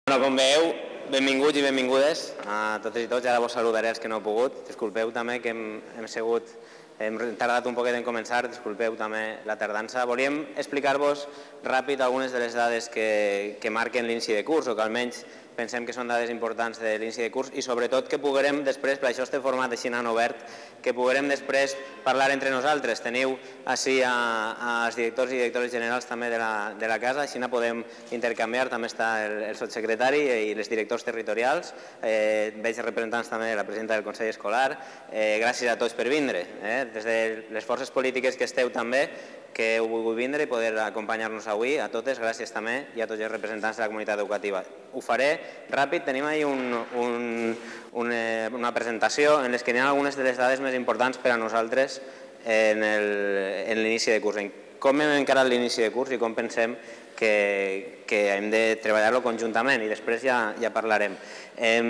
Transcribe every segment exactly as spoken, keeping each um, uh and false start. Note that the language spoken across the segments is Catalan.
Bueno, com veieu, benvinguts i benvingudes a totes i tots. Ara vos saludaré els que no heu pogut. Disculpeu també que hem, hem sigut, hem tardat un poquet en començar, disculpeu també la tardança. Volíem explicar-vos ràpid algunes de les dades que, que marquen l'inici de curs, o que almenys pensem que són dades importants de l'inici de curs, i sobretot que puguem després, per això este format així en obert, que puguem després parlar entre nosaltres. Teniu així als directors i directores generals també de la, de la casa, així podem intercanviar, també està el, el sotssecretari i els directors territorials, eh, veig representants també de la presidenta del Consell Escolar. Eh, gràcies a tots per vindre, eh, des de les forces polítiques que esteu també, que heu volgut vindre i poder acompanyar-nos avui, a totes, gràcies també, i a tots els representants de la comunitat educativa. Ho faré ràpid, tenim ahí un, un, una, una presentació en què hi ha algunes de les dades més importants per a nosaltres en l'inici de curs, en com hem encarat l'inici de curs i com pensem que, que hem de treballar-lo conjuntament, i després ja, ja parlarem. Eh,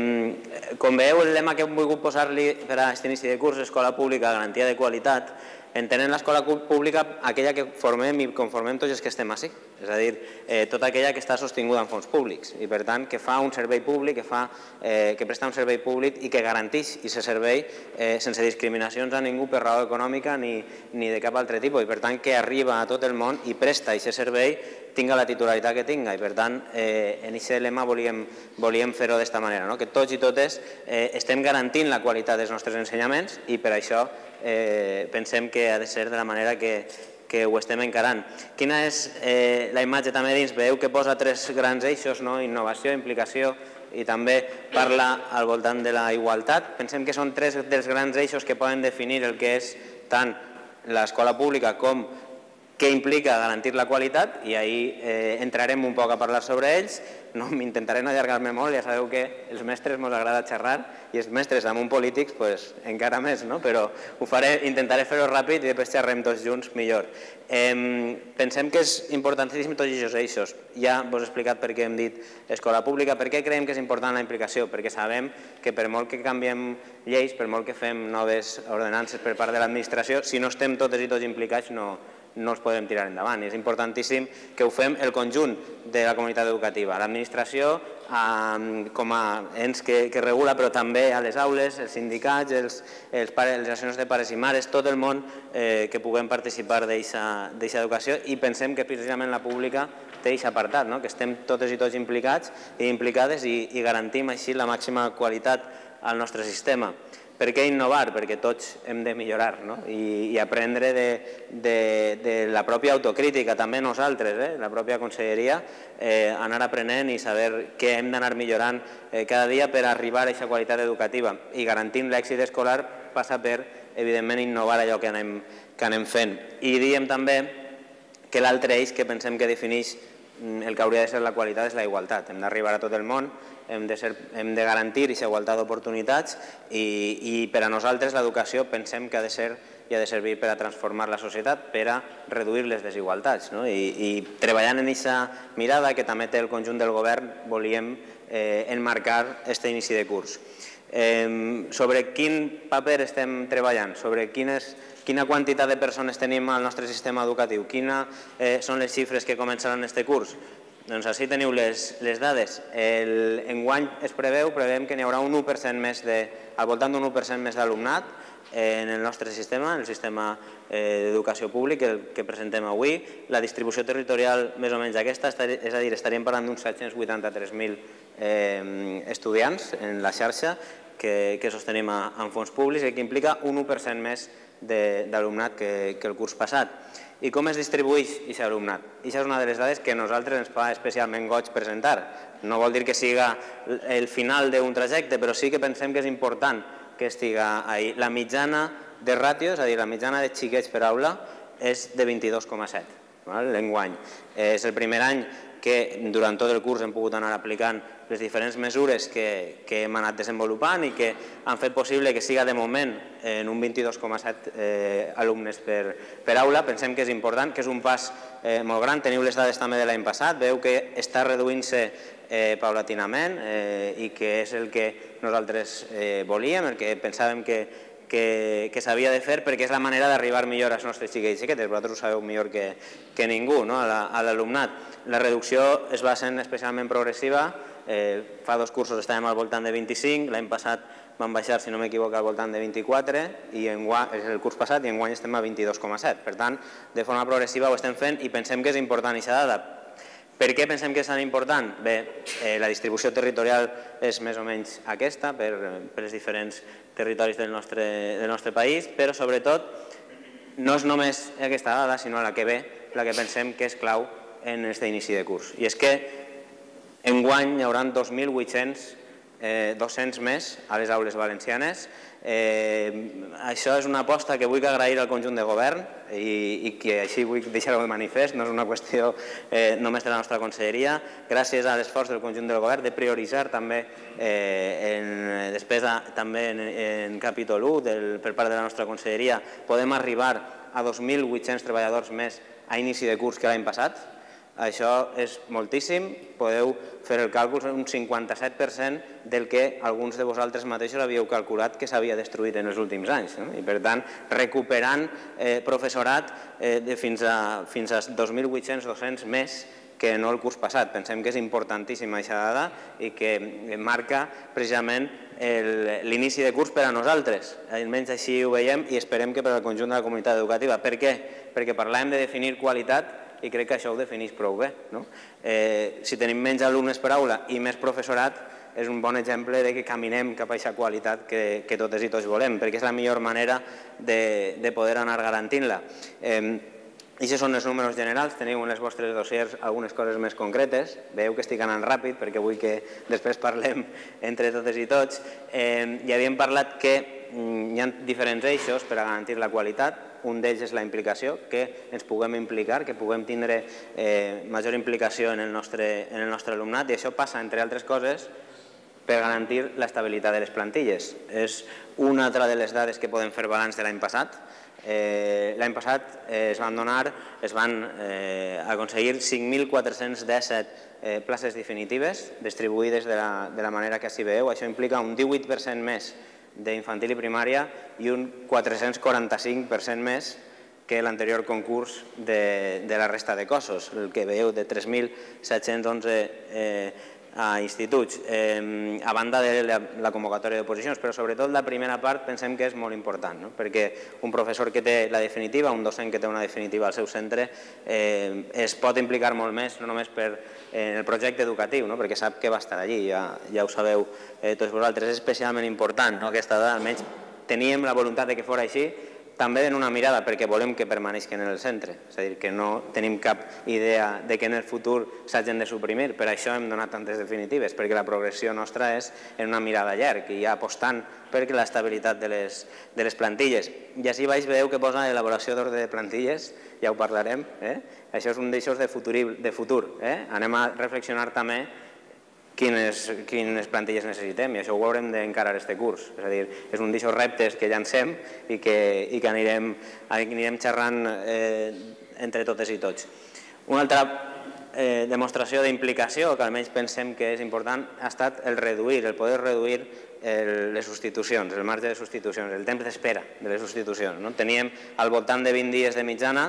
com veieu, el lema que hem volgut posar-li per a aquest inici de curs, escola pública, garantia de qualitat, entenent l'escola pública aquella que formem i conformem tots els que estem així, és a dir, eh, tota aquella que està sostinguda en fons públics i per tant que fa un servei públic, que, fa, eh, que presta un servei públic i que garanteix aquest servei eh, sense discriminacions a ningú per raó econòmica ni, ni de cap altre tipus, i per tant que arriba a tot el món i presta aquest servei tinga la titularitat que tinga, i per tant eh, en aquest lema volíem, volíem fer-ho d'esta manera, no? Que tots i totes eh, estem garantint la qualitat dels nostres ensenyaments i per això eh, pensem que ha de ser de la manera que, que ho estem encarant. Quina és eh, la imatge també dins? Veieu que posa tres grans eixos, no? Innovació, implicació i també parla al voltant de la igualtat. Pensem que són tres dels grans eixos que poden definir el que és tant l'escola pública com què implica garantir la qualitat, i ahir eh, entrarem un poc a parlar sobre ells. No, m'intentaré no allargar-me molt, ja sabeu que els mestres ens agrada xerrar i els mestres damunt polítics pues, encara més, no? Però ho faré, intentaré fer-ho ràpid i després xerrem tots junts millor. Eh, pensem que és importantíssim tots aquests eixos. Ja vos he explicat per què hem dit escola pública, per què creiem que és important la implicació, perquè sabem que per molt que canviem lleis, per molt que fem noves ordenances per part de l'administració, si no estem totes i tots implicats no no els podem tirar endavant. És importantíssim que ho fem el conjunt de la comunitat educativa, l'administració com a ens que, que regula, però també a les aules, els sindicats, els, els pares, les associacions de pares i mares, tot el món eh, que puguem participar d'aquesta educació, i pensem que precisament la pública té aquest apartat, no? Que estem totes i tots implicats i implicades i, i garantim així la màxima qualitat al nostre sistema. Per què innovar? Perquè tots hem de millorar, no? I, i aprendre de, de, de la pròpia autocrítica, també nosaltres, eh? La pròpia conselleria, eh, anar aprenent i saber què hem d'anar millorant eh, cada dia per arribar a aquesta qualitat educativa. I garantint l'èxit escolar passa per, evidentment, innovar allò que anem, que anem fent. I diem també que l'altre eix que pensem que defineix el que hauria de ser la qualitat és la igualtat. Hem d'arribar a tot el món, hem de, ser, hem de garantir aquesta igualtat d'oportunitats i, i per a nosaltres l'educació pensem que ha de ser i ha de servir per a transformar la societat, per a reduir les desigualtats, no? I, i treballant en aquesta mirada que també té el conjunt del govern volíem eh, enmarcar aquest inici de curs. Eh, sobre quin paper estem treballant, sobre quines, quina quantitat de persones tenim al nostre sistema educatiu, quines eh, són les xifres que començaran aquest curs. Doncs així teniu les, les dades. El, enguany es preveu, preveiem que n'hi haurà un u per cent més de, al voltant d'un u per cent més d'alumnat en el nostre sistema, en el sistema eh, d'educació públic el que presentem avui. La distribució territorial més o menys aquesta, és a dir, estaríem parlant d'uns set-cents vuitanta-tres mil eh, estudiants en la xarxa que, que sostenim a, en fons públics i que implica un u per cent més d'alumnat que, que el curs passat. I com es distribueix aquest alumnat? Aquesta és una de les dades que a nosaltres ens fa especialment goig presentar. No vol dir que siga el final d'un trajecte, però sí que pensem que és important que estiga ahí. La mitjana de ràtio, és a dir, la mitjana de xiquets per aula, és de vint-i-dos coma set, l'enguany. És el primer any que durant tot el curs hem pogut anar aplicant les diferents mesures que, que hem anat desenvolupant i que han fet possible que siga de moment en un vint-i-dos coma set eh, alumnes per, per aula. Pensem que és important, que és un pas eh, molt gran. Teniu les dades també de l'any passat, veu que està reduint-se eh, paulatinament eh, i que és el que nosaltres eh, volíem, el que pensàvem que que, que s'havia de fer perquè és la manera d'arribar millor als nostres xiquets i xiquetes. Vosaltres ho sabeu millor que, que ningú, no? a l'alumnat. La reducció es va sent especialment progressiva. Eh, fa dos cursos estàvem al voltant de vint-i-cinc, l'any passat van baixar, si no m'equivoco, al voltant de vint-i-quatre, i és el curs passat, i enguany estem a vint-i-dos coma set. Per tant, de forma progressiva ho estem fent i pensem que és important aquesta dada. Per què pensem que és tan important? Bé, eh, la distribució territorial és més o menys aquesta per, per els diferents territoris del nostre, del nostre país, però sobretot no és només aquesta dada, sinó la que ve, la que pensem que és clau en aquest inici de curs. I és que enguany hi haurà dos mil vuit-cents eh, docents més a les aules valencianes. Eh, això és una aposta que vull agrair al conjunt de govern i, i que així vull deixar-ho de manifest, no és una qüestió eh, només de la nostra conselleria. Gràcies a l'esforç del conjunt del govern de prioritzar també eh, en despesa també en, en capítol u del, per part de la nostra conselleria, podem arribar a dos mil vuit-cents treballadors més a inici de curs que l'any passat. Això és moltíssim, podeu fer el càlcul, un cinquanta-set per cent del que alguns de vosaltres mateixos havíeu calculat que s'havia destruït en els últims anys. No? I per tant, recuperant eh, professorat eh, de fins a, fins a dos mil vuit-cents docents més que no el curs passat. Pensem que és importantíssima aquesta dada i que marca precisament l'inici de curs per a nosaltres. Almenys així ho veiem i esperem que per al conjunt de la comunitat educativa. Per què? Perquè parlàvem de definir qualitat i crec que això ho defineix prou bé. No? Eh, si tenim menys alumnes per aula i més professorat, és un bon exemple de que caminem cap a aquesta qualitat que, que totes i tots volem, perquè és la millor manera de, de poder anar garantint-la. Eh, I aquests són els números generals, teniu en les vostres dossiers algunes coses més concretes, veieu que estic anant ràpid perquè vull que després parlem entre totes i tots. Eh, ja havíem parlat que hi ha diferents eixos per a garantir la qualitat. Un d'ells és la implicació, que ens puguem implicar, que puguem tindre eh, major implicació en el, nostre, en el nostre alumnat, i això passa, entre altres coses, per garantir l'estabilitat de les plantilles. És una altra de les dades que podem fer balanç de l'any passat. Eh, l'any passat eh, es van donar, es van eh, aconseguir cinc mil quatre-cents disset eh, places definitives distribuïdes de la, de la manera que així veieu. Això implica un divuit per cent més d'infantil i primària i un quatre-cents quaranta-cinc per cent més que l'anterior concurs de, de la resta de cossos, el que veieu de tres mil set-cents onze eh, a instituts, eh, a banda de la, la convocatòria d'oposicions, però sobretot la primera part pensem que és molt important, no? Perquè un professor que té la definitiva, un docent que té una definitiva al seu centre, eh, es pot implicar molt més, no només per eh, el projecte educatiu, no? Perquè sap que va estar allí, ja, ja ho sabeu eh, tots vosaltres, és especialment important, no? Aquesta dada, almenys teníem la voluntat de que fos així, també en una mirada perquè volem que permaneixin en el centre, és a dir, que no tenim cap idea de que en el futur s'hagin de suprimir, per això hem donat tantes definitives, perquè la progressió nostra és en una mirada llarg i ja apostant per l'estabilitat de les, de les plantilles. I així baix veieu que posa elaboració d'ordre de plantilles, ja ho parlarem, eh? Això és un d'eixos de futur, de futur eh? Anem a reflexionar també Quines, quines plantilles necessitem, i això ho haurem d'encarar este curs. És a dir, és un d'aquests reptes que llancem i que, i que anirem, anirem xerrant eh, entre totes i tots. Una altra eh, demostració d'implicació, que almenys pensem que és important, ha estat el reduir, el poder reduir el, les substitucions, el marge de substitucions, el temps d'espera de les substitucions. No? Teníem al voltant de vint dies de mitjana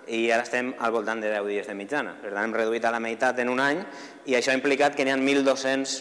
i ara estem al voltant de deu dies de mitjana. Per tant, hem reduït a la meitat en un any i això ha implicat que n'hi ha mil dos-cents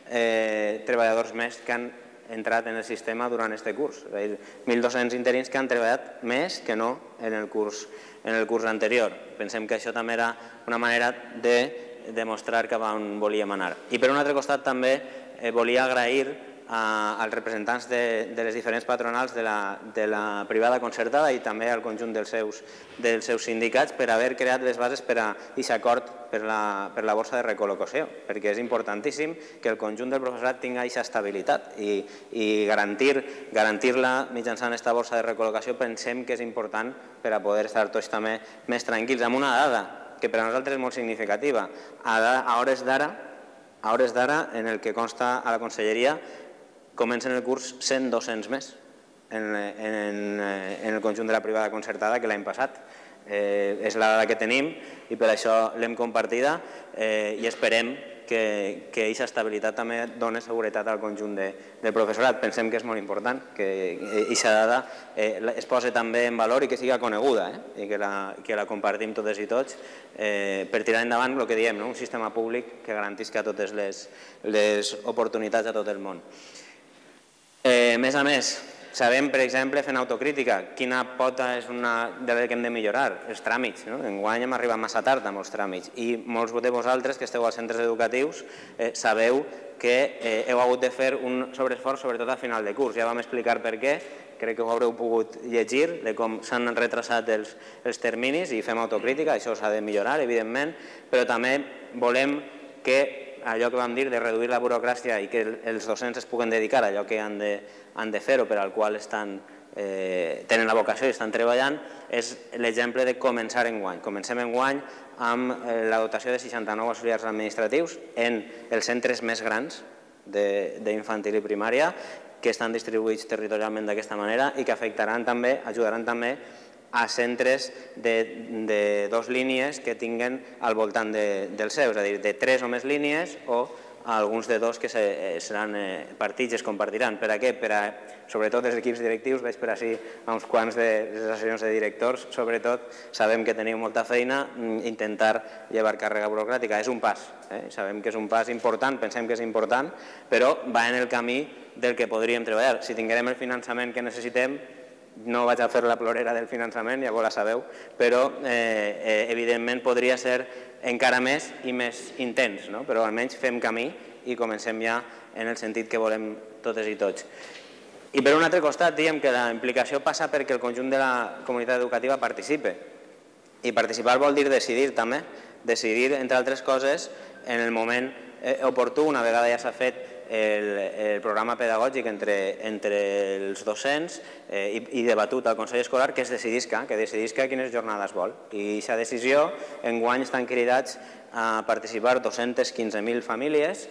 eh, treballadors més que han entrat en el sistema durant aquest curs. És a dir, mil dos-cents interins que han treballat més que no en el curs, en el curs anterior. Pensem que això també era una manera de demostrar cap a on volíem anar. I per un altre costat també eh, volia agrair als representants de, de les diferents patronals de la, de la privada concertada i també al conjunt dels seus, dels seus sindicats per haver creat les bases per a aquest acord per la, per la borsa de recol·locació, perquè és importantíssim que el conjunt del professorat tingui aquesta estabilitat i, i garantir-la garantir mitjançant aquesta borsa de recol·locació pensem que és important per a poder estar tots també més tranquils. Amb una dada que per a nosaltres és molt significativa, a, a hores d'ara, a hores d'ara, en el que consta a la conselleria, comencen el curs cent docents més en, en, en el conjunt de la privada concertada que l'any passat. Eh, és la dada que tenim i per això l'hem compartida eh, i esperem que aquesta estabilitat també dona seguretat al conjunt del professorat. Pensem que és molt important que aquesta dada es posi també en valor i que sigui coneguda i que la compartim totes i tots per tirar endavant el que diem, un sistema públic que garantisca totes les oportunitats a tot el món. A més a més, sabem, per exemple, fent autocrítica, quina pota és una de les que hem de millorar, els tràmits. Enguany hem arribat massa tard amb els tràmits i molts de vosaltres que esteu als centres educatius sabeu que heu hagut de fer un sobreesforç, sobretot a final de curs. Ja vam explicar per què, crec que ho haureu pogut llegir, de com s'han retrasat els terminis i fem autocrítica, això s'ha de millorar, evidentment, però també volem que allò que vam dir de reduir la burocràcia i que els docents es puguen dedicar a allò que han de fer o per al qual tenen la vocació i estan treballant, és l'exemple de començar enguany. Comencem enguany amb la dotació de seixanta-nou auxiliars administratius en els centres més grans d'infantil i primària que estan distribuïts territorialment d'aquesta manera i que afectaran també, ajudaran també a centres de dues línies que tinguen al voltant dels seus, és a dir, de tres o més línies o alguns de dos que seran partits i es compartiran. Per a què? Per a, sobretot els equips directius, veig per així a uns quants de les associacions de directors, sobretot sabem que teniu molta feina, intentar llevar càrrega burocràtica és un pas, sabem que és un pas important, pensem que és important, però va en el camí del que podríem treballar. Si tinguem el finançament que necessitem, no vaig a fer la plorera del finançament, ja vos la sabeu, però evidentment podria ser encara més i més intens, però almenys fem camí i comencem ja en el sentit que volem totes i tots. I per un altre costat diem que la implicació passa perquè el conjunt de la comunitat educativa participe. I participar vol dir decidir també, decidir, entre altres coses, en el moment oportú, una vegada ja s'ha fet el programa pedagògic entre els docents i debatut al Consell Escolar, que es decidisca, que decidisca quines jornades vol. I aquesta decisió, enguany estan cridats a participar dos-centes quinze mil famílies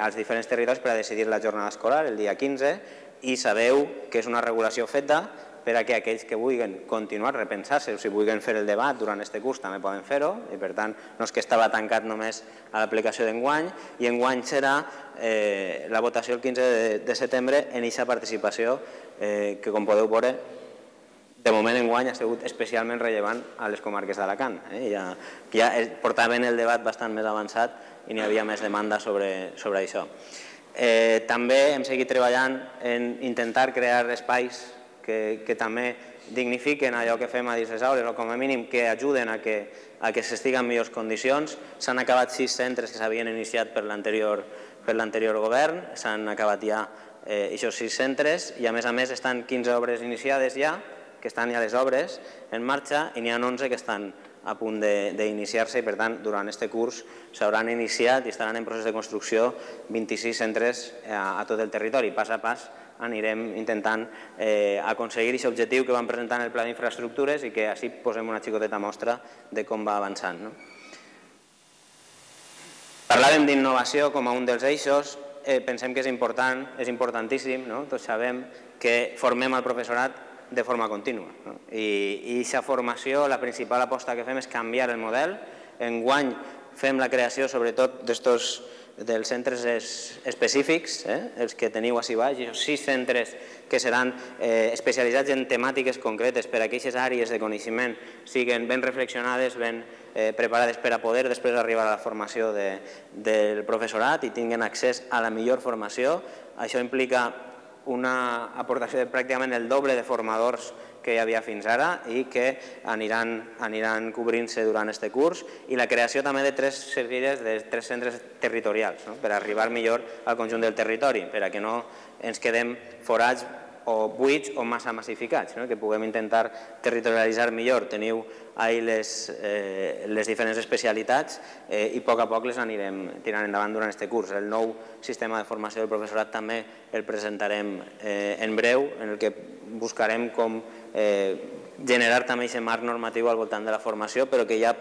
als diferents territoris per a decidir la jornada escolar el dia quinze i sabeu que és una regulació feta per a que aquells que vulguin continuar, repensar-se, o si vulguin fer el debat durant aquest curs també poden fer-ho, i per tant no és que estava tancat només a l'aplicació d'enguany, i enguany serà la votació el quinze de setembre en aquesta participació que, com podeu veure, de moment enguany ha sigut especialment rellevant a les comarques d'Alacant. Ja portaven el debat bastant més avançat i n'hi havia més demanda sobre això. També hem seguit treballant en intentar crear espais que també dignifiquen allò que fem a dins les aules o com a mínim que ajuden a que s'estigui en millors condicions. S'han acabat sis centres que s'havien iniciat per l'anterior govern, s'han acabat ja aquests sis centres i a més a més estan quinze obres iniciades ja, que estan ja les obres en marxa i n'hi ha onze que estan a punt d'iniciar-se i per tant durant aquest curs s'hauran iniciat i estaran en procés de construcció vint-i-sis centres a tot el territori. Pas a pas anirem intentant aconseguir aquest objectiu que vam presentar en el pla d'infraestructures i que així posem una xicoteta mostra de com va avançant. Parlàvem d'innovació com a un dels eixos, pensem que és important, és importantíssim, tots sabem que formem el professorat de forma contínua i aquesta formació, la principal aposta que fem és canviar el model. Enguany fem la creació sobretot d'estos dels centres específics, els que teniu així baix, i sis centres que seran especialitzats en temàtiques concretes per a que aquestes àrees de coneixement siguin ben reflexionades, ben preparades per a poder després arribar a la formació del professorat i tinguin accés a la millor formació. Això implica una aportació de pràcticament el doble de formadors que hi havia fins ara i que aniran cobrint-se durant aquest curs i la creació també de tres servires de tres centres territorials per arribar millor al conjunt del territori, per a que no ens quedem forats o buits o massa massificats, que puguem intentar territorialitzar millor. Teniu ahí les diferents especialitats i a poc a poc les anirem tirant endavant durant aquest curs. El nou sistema de formació del professorat també el presentarem en breu, en el que buscarem com generar també aquest marc normatiu al voltant de la formació, però que ja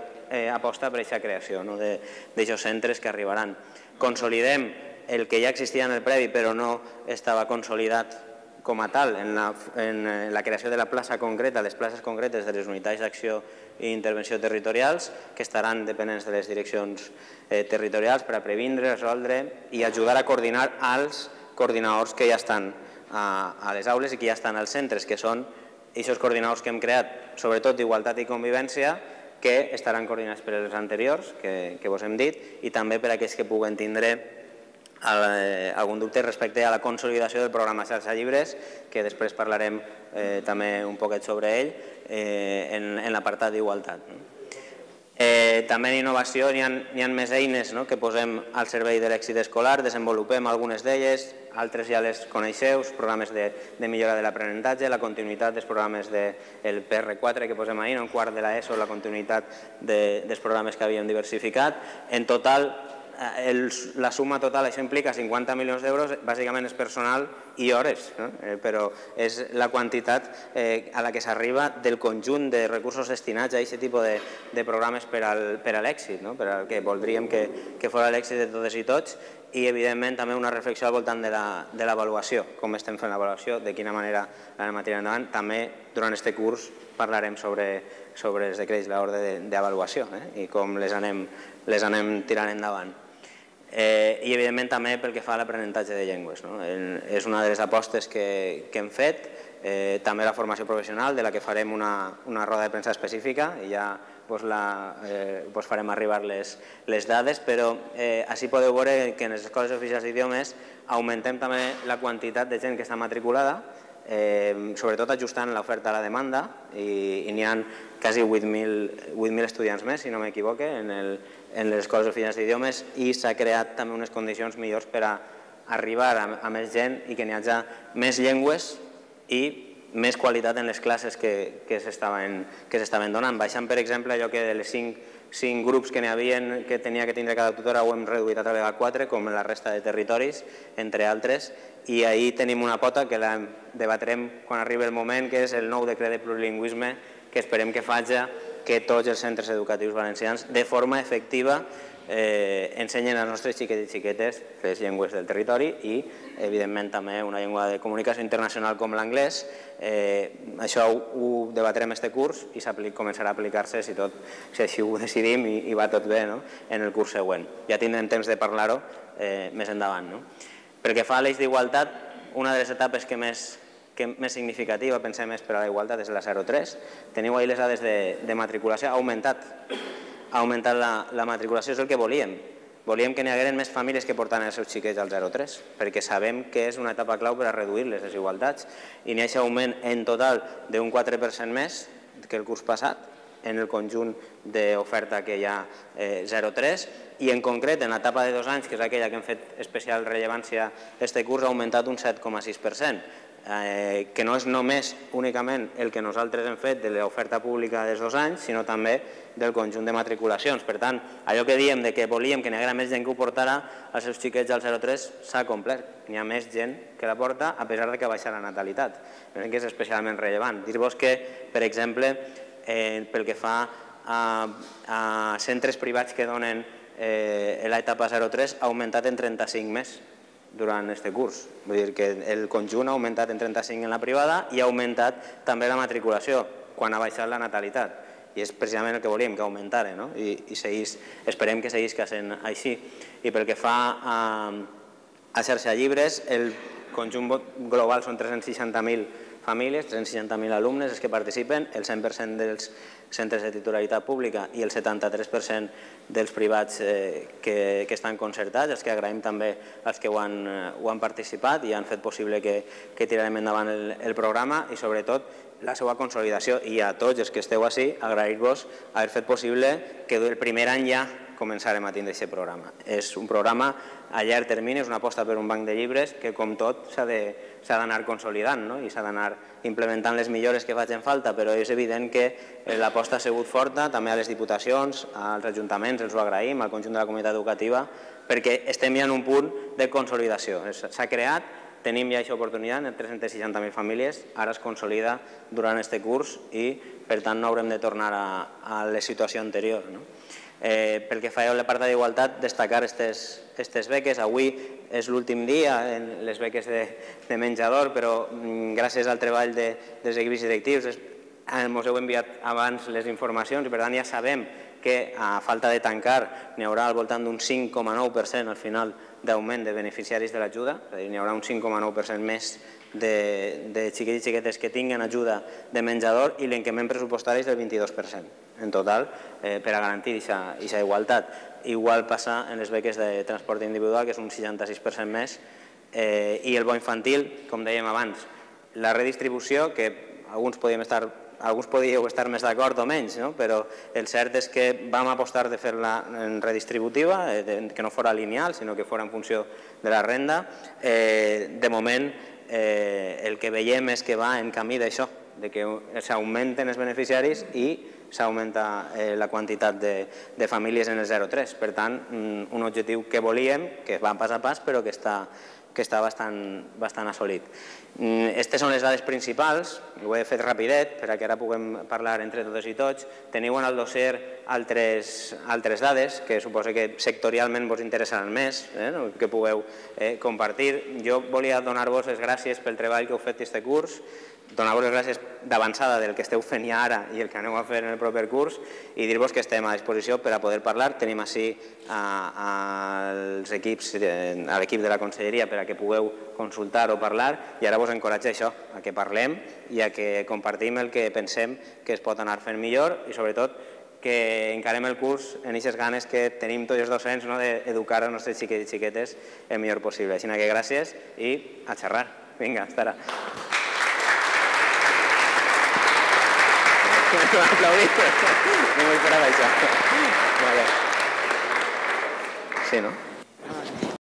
aposta per aquesta creació d'aquests centres que arribaran. Consolidem el que ja existia en el previ però no estava consolidat com a tal, en la, en la creació de la plaça concreta, les places concretes de les unitats d'acció i intervenció territorials, que estaran dependents de les direccions eh, territorials per a previndre, resoldre i ajudar a coordinar als coordinadors que ja estan a, a les aules i que ja estan als centres, que són aquests coordinadors que hem creat, sobretot d'igualtat i convivència, que estaran coordinats per els anteriors, que, que vos hem dit, i també per aquells que puguen tindre algun dubte respecte a la consolidació del programa Xarxa Llibres, que després parlarem eh, també un poquet sobre ell eh, en, en l'apartat d'igualtat. Eh, també en innovació hi ha, hi ha més eines, no?, que posem al servei de l'èxit escolar, desenvolupem algunes d'elles, altres ja les coneixeu, programes de, de millora de l'aprenentatge, la continuïtat dels programes del P R quatre que posem ahir, en quart de l'ESO, la continuïtat de, dels programes que havíem diversificat. En total, El, la suma total, això implica cinquanta milions d'euros, bàsicament és personal i hores, no? eh, però és la quantitat eh, a la que s'arriba del conjunt de recursos destinats a aquest tipus de, de programes per, al, per a l'èxit, no? Per al que voldríem que, que fos l'èxit de totes i tots, i evidentment també una reflexió al voltant de l'avaluació, com estem fent l'avaluació, de quina manera l'anem a tirar endavant. També durant aquest curs parlarem sobre, sobre els decrets, l'ordre d'avaluació eh? i com les anem, les anem tirant endavant. Eh, I evidentment també pel que fa a l'aprenentatge de llengües, no? És una de les apostes que, que hem fet, eh, també la formació professional, de la que farem una, una roda de premsa específica i ja vos, la, eh, vos farem arribar les, les dades, però eh, així podeu veure que en les escoles oficials d'idiomes augmentem també la quantitat de gent que està matriculada, eh, sobretot ajustant l'oferta a la demanda, i, i n'hi ha quasi vuit mil estudiants més, si no m'equivoque, en, el, en les escoles oficials d'idiomes, i s'ha creat també unes condicions millors per a arribar a, a més gent i que n'hi hagi més llengües i més qualitat en les classes que, que s'estaven donant. Baixant, per exemple, allò que de les cinc, cinc grups que n'hi havia que tenia que tindre cada tutora ho hem reduït a través de quatre, com en la resta de territoris, entre altres, i ahir tenim una pota que la debatrem quan arribi el moment, que és el nou decret de plurilingüisme, que esperem que faci que tots els centres educatius valencians de forma efectiva eh, ensenyen als nostres xiquets i xiquetes les llengües del territori i, evidentment, també una llengua de comunicació internacional com l'anglès. Eh, això ho, ho debatrem este curs i començarà a aplicar-se, si, tot, si així ho decidim i, i va tot bé, no?, en el curs següent. Ja tindrem temps de parlar-ho eh, més endavant. No? Pel que fa a l'eix d'igualtat, una de les etapes que més que més significativa, pensem, és per a la igualtat, és la zero tres. Teniu ahir les dades de, de matriculació. Ha augmentat, ha augmentat la, la matriculació, és el que volíem. Volíem que n'hi hagueren més famílies que portaven els seus xiquets al zero tres, perquè sabem que és una etapa clau per a reduir les desigualtats. I n'hi ha aquest augment en total d'un quatre per cent més que el curs passat, en el conjunt d'oferta que hi ha eh, zero tres, i en concret en l'etapa de dos anys, que és aquella que hem fet especial rellevància este curs, ha augmentat un set coma sis per cent. Eh, que no és només únicament el que nosaltres hem fet de l'oferta pública dels dos anys, sinó també del conjunt de matriculacions. Per tant, allò que diem de que volíem que n'hi haguera més gent que ho portara als seus xiquets al zero tres s'ha complert. N'hi ha més gent que la porta, a pesar de que baixa la natalitat. Crec que és especialment rellevant. Dir-vos que, per exemple, eh, pel que fa a, a centres privats que donen eh, l'etapa zero tres, ha augmentat en trenta-cinc més durant aquest curs. Vull dir que el conjunt ha augmentat en trenta-cinc en la privada i ha augmentat també la matriculació quan ha baixat la natalitat. I és precisament el que volíem, que augmentara, no? I, i seguís, esperem que seguís sent així. I pel que fa a, a xarxa llibres, el conjunt global són tres-cents seixanta mil famílies, tres-cents seixanta mil alumnes els que participen, el cent per cent dels centres de titularitat pública i el setanta-tres per cent dels privats eh, que, que estan concertats, els que agraïm també als que ho han, ho han participat i han fet possible que, que tirarem endavant el, el programa i sobretot la seva consolidació. I a tots els que esteu així, agrair-vos haver fet possible que el primer any ja començarem a tindre aquest programa. És un programa a llarg termini, és una aposta per un banc de llibres que, com tot, s'ha d'anar consolidant, no? I s'ha d'anar implementant les millores que facin falta, però és evident que l'aposta ha sigut forta, també a les diputacions, als ajuntaments, els ho agraïm, al conjunt de la comunitat educativa, perquè estem ja en un punt de consolidació. S'ha creat, tenim ja aquesta oportunitat en tres-cents seixanta mil famílies, ara es consolida durant aquest curs i, per tant, no haurem de tornar a, a la situació anterior, no? Pel que fa a l'apartat d'igualtat, destacar aquestes beques. Avui és l'últim dia en les beques de menjador, però gràcies al treball dels equips directius ens heu enviat abans les informacions i per tant ja sabem que a falta de tancar n'hi haurà al voltant d'un cinc coma nou per cent al final d'augment de beneficiaris de l'ajuda, és a dir, n'hi haurà un cinc coma nou per cent més de xiquets i xiquetes que tinguin ajuda de menjador i l'increment pressupostari és del vint-i-dos per cent en total per a garantir aquesta igualtat. Igual passa en les beques de transport individual, que és un seixanta-sis per cent més, i el bo infantil, com dèiem abans, la redistribució, que alguns podíem estar alguns podíeu estar més d'acord o menys, però el cert és que vam apostar de fer-la redistributiva, que no fos lineal, sinó que fos en funció de la renda. De moment, el que veiem és que va en camí d'això, que s'augmenten els beneficiaris i s'augmenta la quantitat de famílies en el zero tres. Per tant, un objectiu que volíem, que va pas a pas, però que està que està bastant assolit. Aquestes són les dades principals, ho he fet rapidet perquè ara puguem parlar entre totes i tots. Teniu en el dossier altres dades que suposo que sectorialment vos interessaran més, que pugueu compartir. Jo volia donar-vos les gràcies pel treball que heu fet aquest curs, donar-vos les gràcies d'avançada del que esteu fent ja ara i el que aneu a fer en el proper curs i dir-vos que estem a disposició per a poder parlar. Tenim ací els equips, a l'equip de la conselleria per a que pugueu consultar o parlar i ara vos encoratjo a això, a que parlem i a que compartim el que pensem que es pot anar fent millor i sobretot que encarem el curs en aquestes ganes que tenim tots els docents d'educar els nostres xiquets i xiquetes el millor possible. Així que gràcies i a xerrar. Vinga, hasta ara. No m'ho esperava això. Sí, no?